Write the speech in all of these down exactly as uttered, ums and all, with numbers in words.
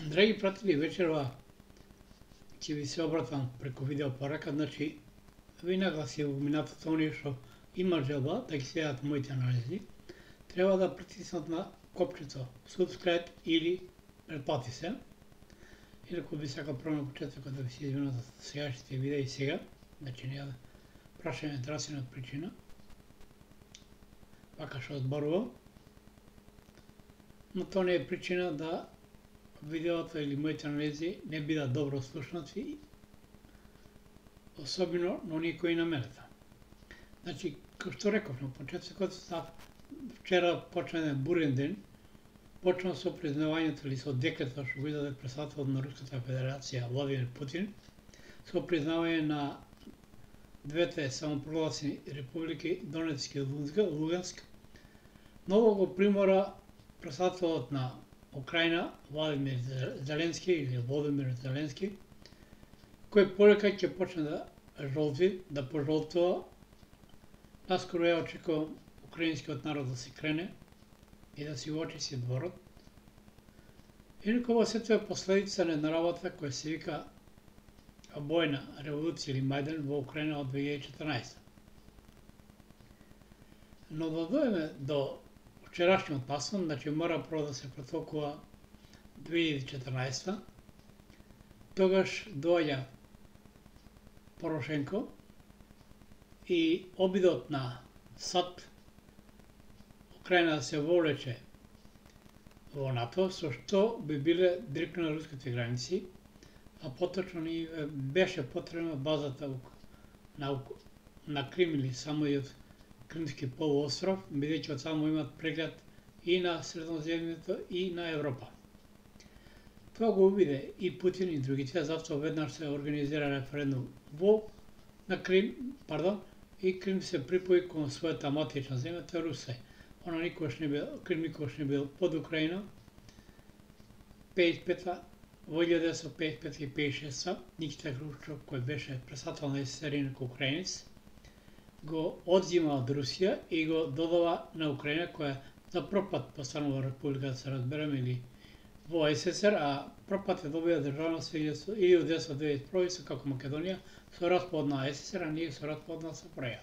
Драги пратели, вечерва ќе ви се обратам преку видео порака, значи ви нагласи во минатото оние што има желба да ги следат моите анализи, треба да притиснат на копчето subscribe или претплати се. Инаку би сакал прво на почетокот да ви се извинам за сегашните видеи сега, значи не да прашаме здравствена причина, вака што зборувам, но тоа не е причина да видеото или моите анализи не бидат добро слушнати, особено на оние кои намерата. Значи, како што реков на почетокот, вчера почна еден бурен ден, почна со признавањето или со декретот што го издаде председателот на Руската Федерација Владимир Путин, со признавање на двете самопрогласени републики Донецк и Луганск. Ново го примора председателот на Украина Владимир Зеленски или Володимир Зеленски, кој полека ќе почне да жолти, да пожолтува. Наскоро ја очекувам украинскиот народ да се крене и да си го очисти дворот. Инаку ова сето е последица на една работа која се вика обојна револуција или Мајдан во Украина од две илјади и четрнаесетта. Но да дојдеме до вчерашниот наслов, значи мора прво да се претолкува две илјади и четрнаесетта, тогаш доаѓа Порошенко и обидот на САД Украина да се вовлече во НАТО, со што би биле директно на руските граници, а поточно ни беше потребна базата на, на Крим или самиот Кримски полуостров, бидејќи од само имат преглед и на Средоземјето и на Европа. Тоа го увиде и Путин и другите, затоа веднаш се организира референдум во на Крим, пардон, и Крим се припои кон својата матична земја, тоа е Русија. Она никогаш не бил, Крим никогаш не бил под Украина. пеесет и пета, во илјада деветстотини пеесет и пета и пеесет и шеста, Никита Хрушчов, кој беше председател на СССР инаку украинец, го одзима од Русија и го додава на Украина, која за прв пат постанува република, да се разбереме, или во СССР, а прв пат е добија државност илјада деветстотини деветдесет и прва со како Македонија, со распад на СССР, а ние со распад на СПРЈ.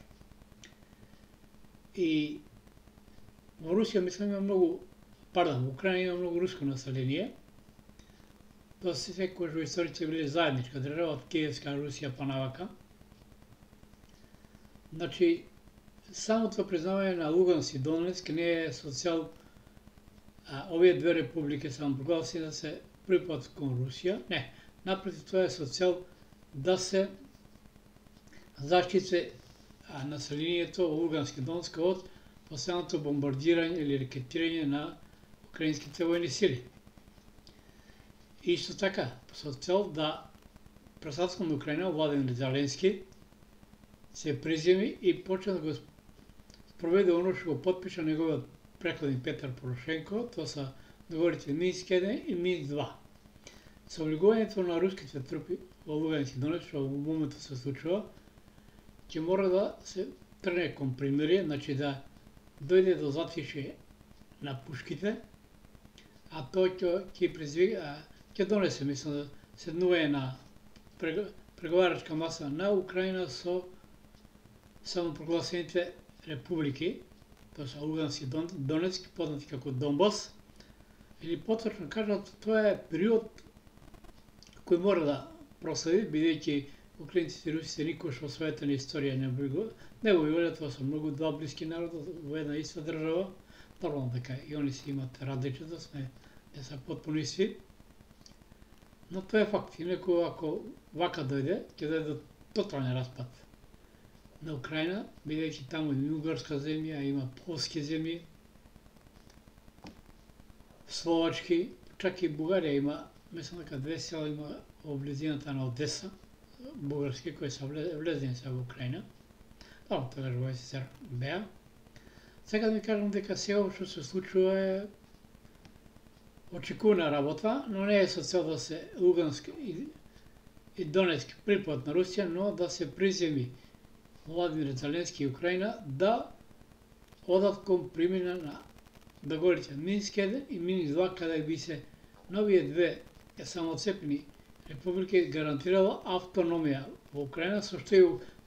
И во Русија, мислам, има многу, пардон, во Украина има многу руско население. Тоа се секојаш во историјата биле заедничка држава од Киевска Русија па навака. Значи, самото признавање на Луганск и Донецк не е со цел а, овие две републики самопрогласени да се припадат кон Русија. Не, напротив, тоа е со цел да се заштити населението во Луганск и Донецк од постојаното бомбардирање или рекетирање на украинските војни сили. И исто така, со цел да председателот на Украина Владимир Зеленски се приземи и почне да го спроведе оно што го потпиша неговиот претходник Петар Порошенко, тоа се договорите Минск еден и Минск два. Со влегувањето на руските трупи во Луганск и Донецк, што во моментот се случува, ќе мора да се трне кон примирие, значи да дојде до затишје на пушките, а тоа ќе ќе предизвика, ќе донесе, мислам, да седнување на преговарачка маса на Украина со самопрогласените републики, тоа се Луганск и Донецк, познати како Донбас, или поточно кажат, тоа е период кој мора да проследи, бидејќи украинците и русите никогаш во својата на историја не го не го виделе, тоа се многу два блиски народи во една иста држава. Нормално дека и они си имат различията, сме не се потпуно исти. Но тоа е факт. Инаку ако вака дојде, ќе дојде до тотален распад на Украина, бидејќи таму има угарска земја, има полски земји, словачки, чак и Бугарија има, мислам дека две села има во близината на Одеса, бугарски, кои се влезени се во Украина. Тоа тогаш во СССР беа. Сега да ми кажам дека сега што се случува е очекувана работа, но не е со цел да се Луганск и, и Донецк припадат на Русија, но да се приземи Владимир Зеленски и Украина да одат кон примена на договорите Минск еден и Минск два, каде би се новие две самоцепни републики гарантирала автономија во Украина, со што и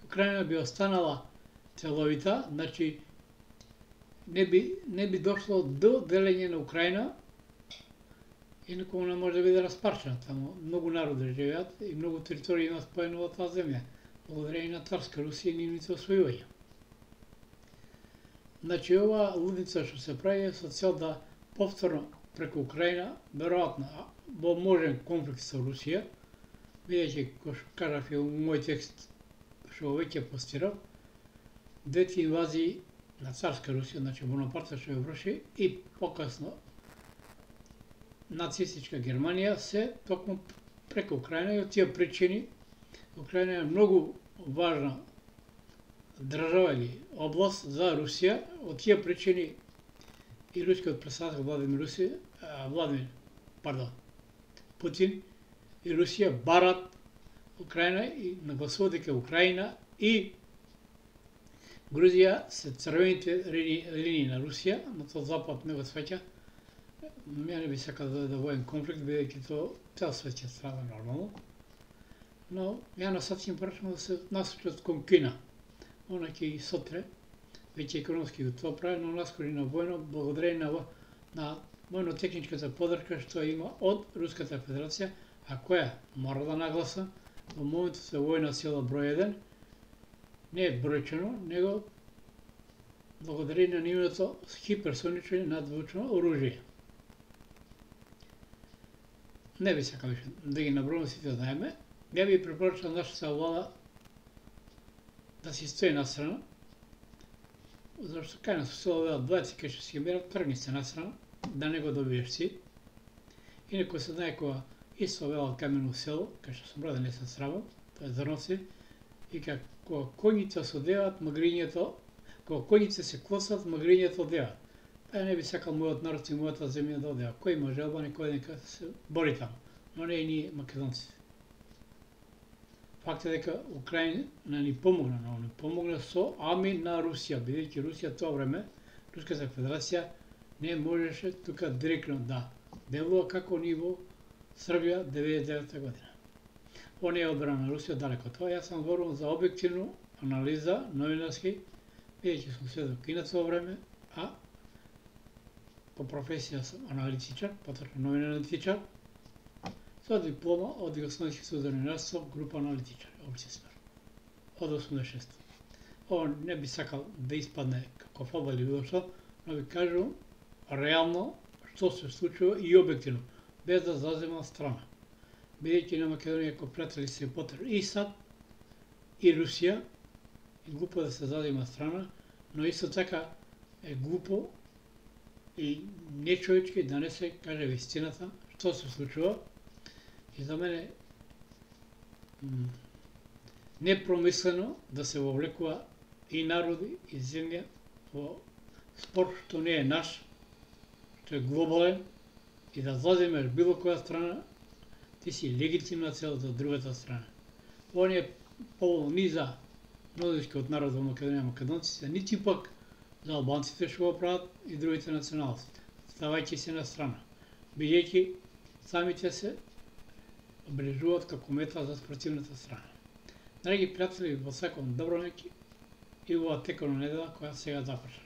Украина би останала целовита, значи не би, не би дошло до делење на Украина и никому не може да биде распарчена. Таму многу народи живеат и многу територии има споено во таа земја, благодарение на Царска Русија и нивните освојувања. Значи, ова лудница што се прави е со цел да повторно преку Украина, веројатно во можен конфликт со Русија, бидејќи, кој што кажав и во мој текст, што веќе постирав, двете инвазии на Царска Русија, значи Бонапарте што ја врши, и покасно нацистичка Германија, се токму преку Украина, и од тие причини Украина е многу важна држава или област за Русија. Од тие причини и рускиот председател Владимир Русија, Владимир, пардон, Путин и Русија барат Украина и нагласуваат дека Украина и Грузија се црвените линии на Русија, на тој запад не го свеќа. Ја не би сакал да дојде воен конфликт, бидејќи тоа цел свет ќе страда нормално. Но ја на сад им прашам да се насочат кон Кина. Она ќе и сотре, веќе економски го тоа прави, но наскори на војно, благодарение на, на војно-техничката подршка што има од Руската Федерација, а која, мора да нагласа, во моментот се војна сила број еден, не е бројчено, него благодарение на нивното хиперсонично и надзвучно оружје. Не би сакал више да ги набројам сите знаеме. Ја би препорачал нашата влада да си стои настрана, зашто кај нас се оваа двајци кај што си ги мерат, тргни се настрана, да не го добиеш си. Инако се знае кога исто вела камено село, кај што сум роден, не се срамам, тоа е Зрновци, и кога коњите се одеваат, магрињето, кога коњите се клосат, магрињето одеваат. Па не би сакал мојот народ и мојата земја да одева. Кој има желба, некој нека се бори таму, но не и ние македонците. Факт е дека Украина ни помогна, но ни помогна со ами на Русија, бидејќи Русија тоа време, Руската Федерација не можеше тука директно да делува како ниво Србија деветдесет и девета година. Ова не е одбрана на Русија, далеко тоа. Јас сам зборувам за објективно анализа, новинарски, бидејќи сум сведок и на тоа време, а по професија сум аналитичар, поточно новин аналитичар, со диплома од Југословенски суд за новинарство, група аналитичар, обчествар, од осумдесет и шеста. Ова не би сакал да испадне како фаба или било што, но ви кажувам реално што се случува и објективно, без да заземам страна. Бидејќи на Македонија како пријатели се потр и САД, и Русија, и глупо да се зазема страна, но исто така е глупо и нечовечки да не се каже вистината, што се случува. И за мене непромислено да се вовлекува и народи, и земја во спор што не е наш, што е глобален, и да заземеш било која страна, ти си легитимна цел за другата страна. Ова не е поволно ни за мнозинскиот народ во Македонија, македонците, нити пак за албанците што го прават и другите националности, ставајќи се на страна, бидејќи самите се обележуваат како мета за спротивната страна. Драги пријатели, во сакам добро неки и во текона недела која сега започна.